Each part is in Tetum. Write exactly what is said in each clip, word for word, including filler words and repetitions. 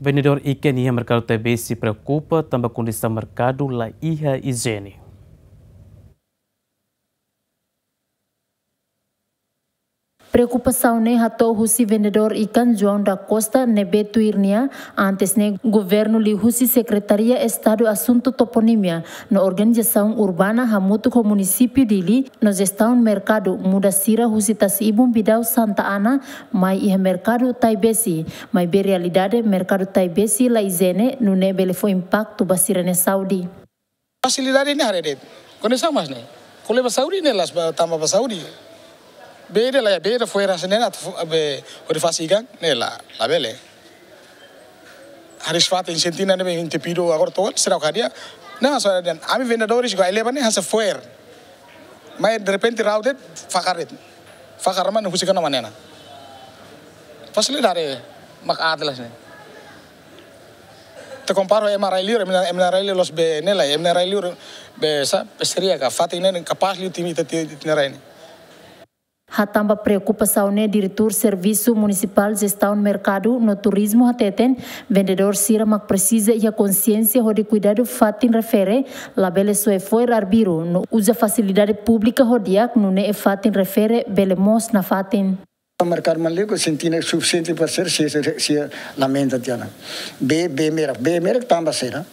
Vendedór ikan iha merkadu Taibesi preokupa tanba kondisaun merkadu la iha ijiene. Preokupasaun ne'e hato'o husi vendedór ikan João da Costa ne'ebé tuir nia, antes ne'e governu liuhusi Sekretaria Estadu Asuntu Toponímia no Organizasaun Urbana hamutuk ho Munisípiu Dili no jestaun merkadu muda sira husi Tasi-Ibun Bidau Santa Ana mai iha merkadu Taibesi, maibé realidade merkadu Taibesi la ijiene, nune'e bele fó impaktu ba sira-nia saúde. Fasilidade ne'e haree de'it. Kondisaun mós ne'e. Ko'alia ba saúde ne'e la'ós ba, tanba ba saúde. Bee ida la iha, bee ida fo'er hanesan ne'e atu fó, be, hodi fase ikan ne'e la, labele. Haree fatin sentina ne'ebé entupidu agora to'o seidauk hadi'a. Nah, so dan ami vendedores go eleva ne'e hanesan fo'er. Mai derrepente rau de'it, fakar de'it. Fakar mane husi kana manena. Fasilidade mak atlas ne'e. Ita kompara ho ema rai liur, ema, ema rai liur la'ós be ne'e lai, ema rai liur be sa, pesteria ka, fatin ne'e kapás liu timi ita ti-, ita-nia rai ne'e. Hatán ba preokupasaun ne'e, Diretór Servisu Munisipál Jestaun Merkadu no Turizmu hateten, vendedór sira mak presiza iha konsiénsia hodi kuidadu fatin refere, labele soe fo'er arbiru, no uza fasilidade públika ho di'ak, nune'e fatin refere bele moos nafatin. Merkadu Manleuka sentina sufisiente para ser, se, se, se lamenta tiha ona. Bee, bee merak, bee merak tanba sira.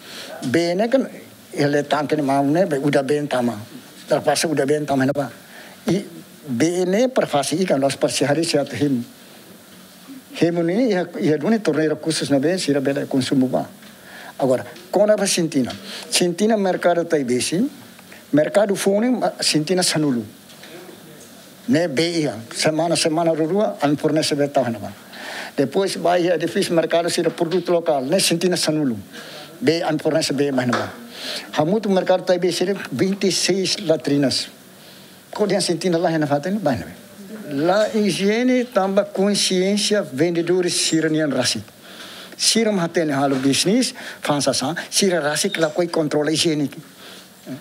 Bee ne'e kan, ele tanke ne'e maun ne'e, bee udan-been tama. Terpaksa udan-been tama ne'ebá. I bee ne'e para fase ikan, la'ós para se haree se atu hemu. Hemu ne'e iha, iha duni torneira khusus ne'ebé sira bele konsumu ba. Agora, kona-ba sentina. Sentina merkadu Taibesi, merkadu foun ne'e, ma-, sentina sanulu. Ne'e bee iha, semana, semana rua-rua, ami fornese bee tau iha ne'ebá. Depois, ba iha edifísiu merkadu sira produtu lokál, ne'e sentina sanulu. Bee, ami fornese bee mai iha ne'ebá. Hamutuk merkadu Taibesi sira vinte e seis latrinas. Ko'alia sentina la iha nafatin, ba iha ne'ebé. La ijiene tanba konsiénsia vendedores sira-nian rasik. Sira mak hatene halo bisnis, fa'an sasán, sira rasik lakohi kontrola ijiene.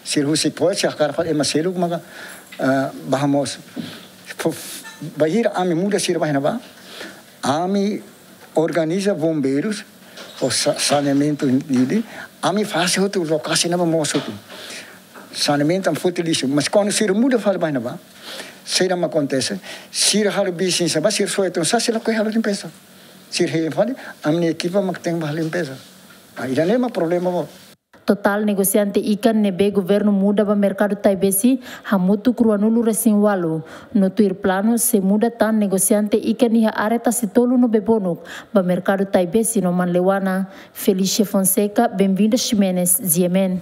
Sira husik fo'er, sira hakarak fali ema seluk maka, ah, bá hamoos. Fo-, bainhira ami muda sira ba iha ne'ebá, ami organiza bombeirus, ho sa-, saneamentu ne'e, ami fase hotu lokasi ne'ebá moos hotu. Saneamentu ami foti lixu, mas kuandu sira muda fali ba iha ne'ebá, saida mak akontese, sira halo bisnis ba, sira soe tun sasán, sira lakohi halo limpeza. Sira hein fali, ami-nia ekipa mak tenke bá halo limpeza. Ah, ida-ne'e mak problema boot. Totál negosiante ikan ne'ebé governu muda ba merkadu Taibesi hamutuk ruanulu-resin-ualu. No tuir planu sei muda tan negosiante ikan iha área Tasitolu no Bebonuk ba merkadu Taibesi no Manleuana. Felicia Fonseca, Benvinda Ximenes, G M N.